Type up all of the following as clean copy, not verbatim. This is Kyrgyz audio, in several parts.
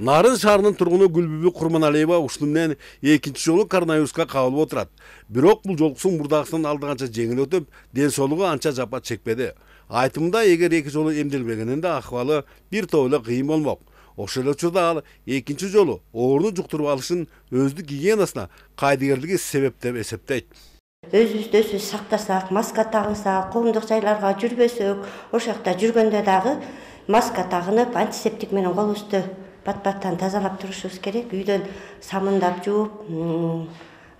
Нарын шаарынын тургуну Гүлбүбү Курманалиева ушуну менен экинчи жолу коронавируска кабылып отурат. Бирок бул жолкусун мурдагысынан алдыганча жеңил өтүп, ден соолугу анча жапа чекпеди. Айтымында эгер эки жолу эмделбегенинде ахыбалы бир топ эле кыйын болмок. Ошол эле учурда ал экинчи жолу ооруну жуктуруп алышын өздүк гигиенасына кайдыгерлиги себеп деп эсептейт. Өзүбүздү өзүбүз сактасак, маска тагынсак, коомдук жайларга жүрбөсөк, ошол жакта жүргөндө дагы маска тагынып, антисептик менен колубузду бат-баттан тазалап турушубуз керек. Үйдөн самындап жууп,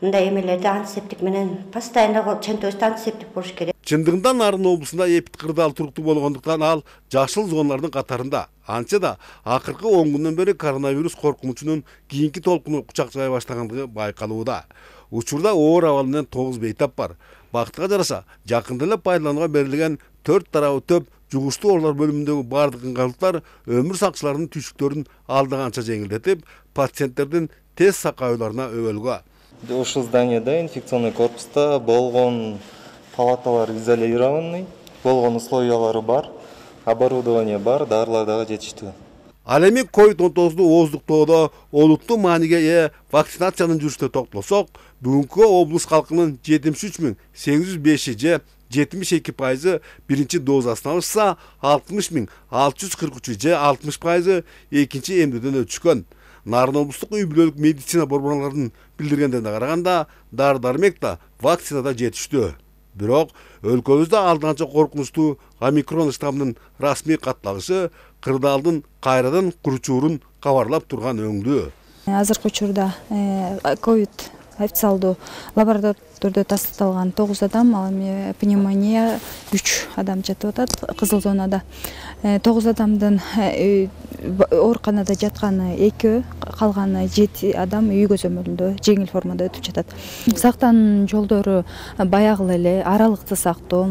мындай эмелерди антисептик менен постоянно чөнтөбүздө антисептик болуш керек. Чындыгында Нарын облусунда эпид кырдаал туруктуу болгондуктан ал жашыл зоналардын катарында. Анча да акыркы 10 күндөн бери коронавирус коркунучунун кийинки толкуну кучакчай баштагандыгы байкалууда. Учурда оор абал менен 9 бейтап бар. Бактыга жараша, жакында эле пайдаланууга берилген 4 тарабы төп жугуштуу оорулар бөлүмүндөгү бардык ыңгайлыктар өмүр сакчыларынын түйшүктөрүн алдыганча жеңилдетип, пациенттердин тез сакаооларына өбөлгө. Ушул зданияда инфекционный корпуста болгон палаталар изолированный, болгон условиялары бар, оборудование бар, дарылар дагы жетиштүү. Ал эми COVID-19 ооздуктоодо олуттуу мааниге ээ вакцинациянын жүрүшүнө токтолсок, бүгүнкү облус калкынын 73.805 же 72% биринчи дозасын алышса, 60.643 же 60% экинчи эмдөөдөн өтүшкөн. Нарын облустук үй бүлөлүк медицина борборлорунун билдиргендерине караганда, дары-дармек да, вакцина да жетиштүү. Бирок өлкөбүздө алдыганча коркунучтуу омикрон штаммынын расмий катталышы кырдаалдын кайрадан куручуурун кабарлап турган өңдүү. Азыркы учурда ковид официалдуу лабораторияда тасталган 9 адам, ал эми пневмония 3 адам жатып атат кызыл зонада. 9 адамдын ооруканада жатканы 2, калганы 7 адам үй көзөмөлүндө жеңил формада өтүп жатат. Сактануу жолдору баягы эле аралыкты сактоо,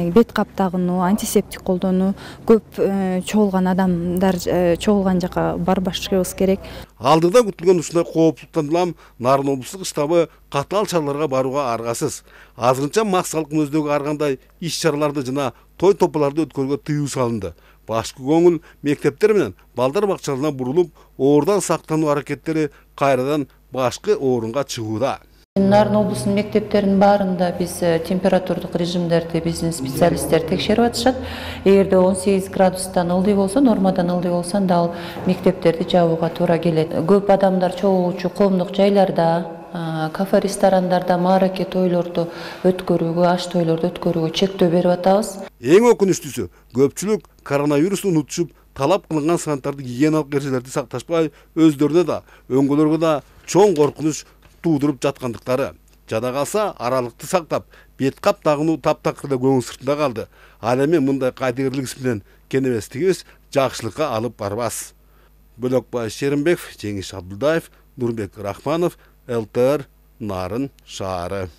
бет кап тагынуу, антисептик колдонуу, көп чогулган адамдар чогулган жака барбашыбыз керек. Алдыда күтүлгөн ушундай кооптуктан улам Нарын облустук штабы катаал чараларга барууга аргасыз. Азырынча макс калктын өздөгү ар кандай иш-чараларды жана той тополорду өткөрүүгө тыюу салынды. Башкы көңүл мектептер менен балдар бакчаларына бурулуп, оорудан сактануу аракеттери кайрадан башкы орунга чыгууда. Нарын облусунун мектептеринин баарында биз температурдук режимдерди биздин специалисттер текшерип атышат. Эгерде 18 градустан ылдый болсо, нормадан ылдый болсо, анда ал мектептерди жабууга туура келет. Көп адамдар чогулуучу коомдук жайларда, кафе, ресторандарда маараке тойлорду өткөрүүгө, аш тойлорду өткөрүүгө чектөө берип атабыз. Эң өкүнүчтүүсү, көпчүлүк коронавирусту унутушуп, талап кылынган санитардык гигиеналык эрежелерди сакташпай, өздөрүнө да, өңгөлөргө да чоң коркунуч туудуруп жаткандыктары. Жада калса, аралыкты сактап, бет кап тагынуу таптакыр эле көңүл сыртында калды. Ал эми мындай кайдыгерлик иш менен кенебестигибиз жакшылыкка алып барбас. Бөлөкбай Шеримбеков, Жеңиш Абдулдаев, Нурбек Рахманов, ЛТР, Нарын шаары.